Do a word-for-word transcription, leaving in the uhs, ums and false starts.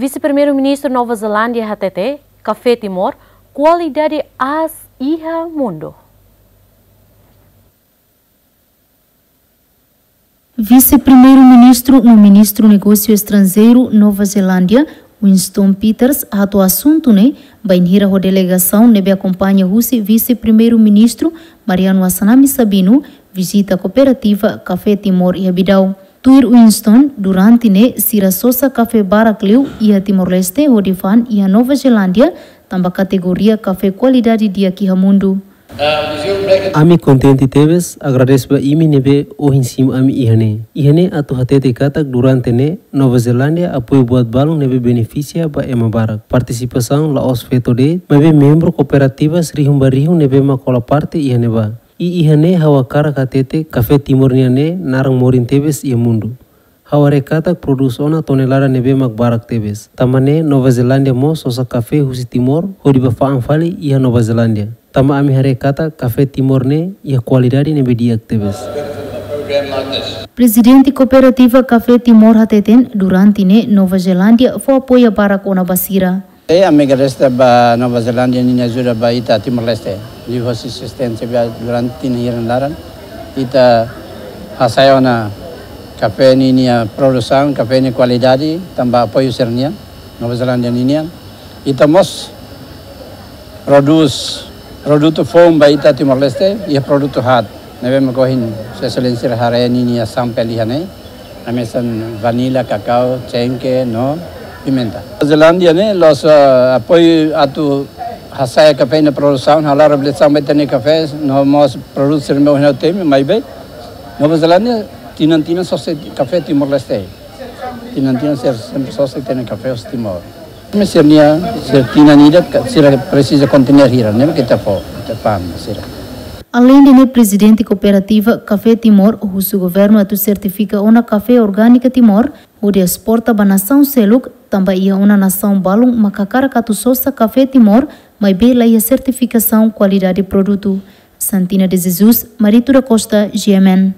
Vise-Primeiru-Ministru Nova Zelándia hatete, kafé Timor kualidade aas iha mundu. Vise-Primeiru-Ministru no Ministru Negósiu Estranjeiru Nova Zelándia, Winston Peters, hato'o asuntu ne'e bainhira ho delegasaun ne'ebé akompaña husi Vise-Primeiru-Ministru Mariano Assanami Sabino vizita kooperativa Kafé Timor iha Bidau. Tuir Winston, durante ne'e sira sosa kafé barak liu iha Timor-Leste hodi fa'an iha Nova Zelándia, tanba kategoria kafé kualidade di'ak iha mundu. Ami kontente tebes, agradese ba imi ne'ebé ohin simu ami iha ne'e. Iha ne'e atu hatete katak durante ne'e Nova Zelándia apoiu buat balun ne'ebé benefisia ba ema barak. Partisipasaun la'ós feto de'it, maibé membru kooperativas rihun ba rihun ne'ebé mak hola parte iha ne'ebá. I iha ne'e ha'u hakarak hatete kafé Timor nian ne'e naran morin tebes iha mundu. Ha'u haree katak prodús ona tonelada ne'ebé mak barak tebes. Tanba ne'e Nova Zelándia mós sosa kafé husi Timor hodi bá fa'an fali iha Nova Zelándia. Tanba ami haree katak kafé Timor ne'e iha kualidade ne'ebé di'ak tebes. Prezidente Kooperativa Kafé Timor hateten durante ne'e Nova Zelándia fó apoiu barak ona ba sira. E ami agradese ba Nova Zelándia ninia ajuda ba ita Timor-Leste. Liuhosi asisténsia ba durante tinan hira nia laran. Ita hasa'e ona kafé ninia produsaun, kafé nia kualidade, tanba apoiu sira-nian, Nova Zelándia ninian. Ita mós prodús produtu foun ba ita Timor-Leste, iha produtu haat. Ne'ebé mak ohin Sua Exelénsia haree ninia sampel iha ne'e. Hanesan vanila, kakao, cengke, no pimenta. Zelándia ne'e la'ós, ah, apoiu atu hasa'e kafé nia produsaun, halo reabilitasaun ba ita-nia kafé, no mós produtu sira ne'ebé ohin ha'u temi, maibé Nova Zelándia tinan-tinan sosa kafé Timor-Leste. Tinan-tinan sira sempre sosa ita-nia kafé husi Timor. Maibé sira-nia, sira tinan ida ka, sira presiza kontener hira, ne'e mak ita fó, ita fa'an ba sira. Aleinde ne'e, Prezidente Kooperativa Kafé Timor husu governu atu sertifika ona kafé orgániko Timor hodi esporta ba nasaun seluk, tanba iha ona nasaun balun mak hakarak atu sosa kafé Timor, maibé la iha sertifikasaun kualidade produtu. Santina de Jesus, Marito da Costa, G M N.